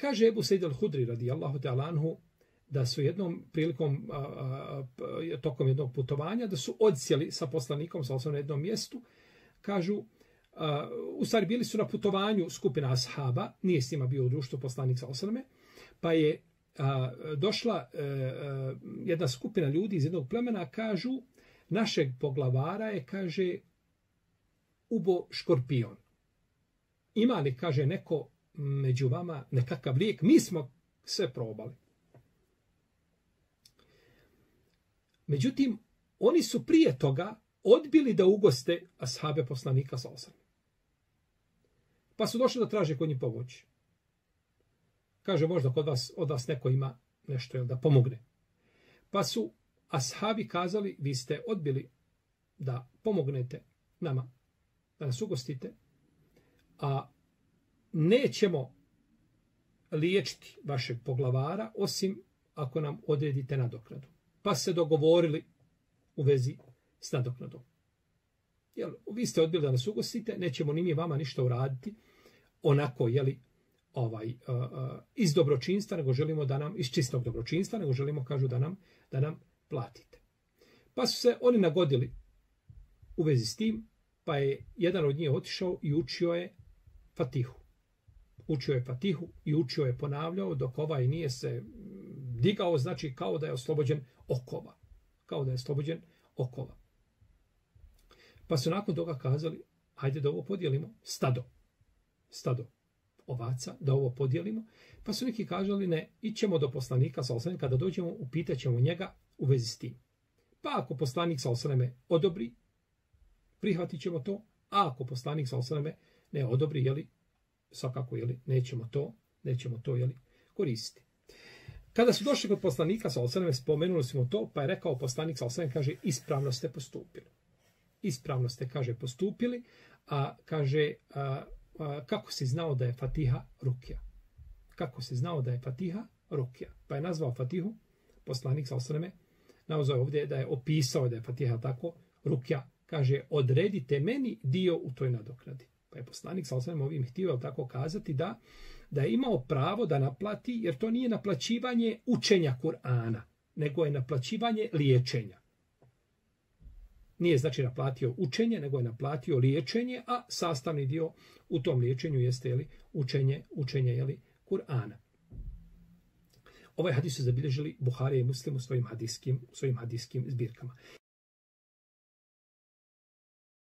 Kaže Ebu Sejid al-Hudri radijallahu ta'ala anhu da su jednom prilikom, tokom jednog putovanja, da su odsjeli sa poslanikom sa na jednom mjestu, kažu, u stvari bili su na putovanju skupina ashaba, nije s njima bio u društvu poslanik sa osaname, pa je došla jedna skupina ljudi iz jednog plemena, kažu, našeg poglavara je, kaže, ubo škorpion. Ima li, kaže, neko među vama nekakav lijek? Mi smo sve probali. Međutim, oni su prije toga odbili da ugoste ashabe poslanika sa osam. Pa su došli da traže kod njih pomoći. Kaže, možda od vas neko ima nešto da pomogne. Pa su ashabi kazali, vi ste odbili da pomognete nama, da nas ugostite, a nećemo liječiti vašeg poglavara, osim ako nam odredite nadoknadu. Pa se dogovorili u vezi s nadoknadom. Jel, vi ste odbili da nas ugostite, nećemo ni mi vama ništa uraditi, onako, jeli, iz dobročinstva, nego želimo da nam, iz čistog dobročinstva, nego želimo, kažu, da nam platite. Pa su se oni nagodili u vezi s tim, pa je jedan od njih otišao i učio je Fatihu. Učio je Fatihu i učio je ponavljao, dok ovaj nije se digao, znači kao da je oslobođen okova. Kao da je oslobođen okova. Pa su nakon toga kazali, hajde da ovo podijelimo, stado ovaca, da ovo podijelimo. Pa su neki kazali, ne, ićemo do poslanika sa osanem, kada dođemo, upitat ćemo njega u vezi s tim. Pa ako poslanik sa osaneme odobri, prihvatit ćemo to, a ako poslanik sa osaneme ne odobri, jeli, svakako, jeli, nećemo to, jeli, koristiti. Kada su došli kod poslanika sa osaneme, spomenuli smo to, pa je rekao poslanik sa osaneme, kaže, ispravno ste postupili. Ispravno ste, kaže, postupili, a kaže, kako si znao da je Fatiha rukja? Kako si znao da je Fatiha rukja? Pa je nazvao Fatihu, poslanik sa osaneme, nazvao ovdje da je opisao da je Fatiha tako, rukja, kaže, odredite meni dio u toj nadoknadi. Pa je poslanik sa osaneme ovim htio tako kazati da je imao pravo da naplati, jer to nije naplaćivanje učenja Kur'ana, nego je naplaćivanje liječenja. Nije znači naplatio učenje, nego je naplatio liječenje, a sastavni dio u tom liječenju jeste, jeli, učenje jeli, Kur'ana. Ovaj hadis su zabilježili Buharija i Muslim u svojim hadijskim zbirkama.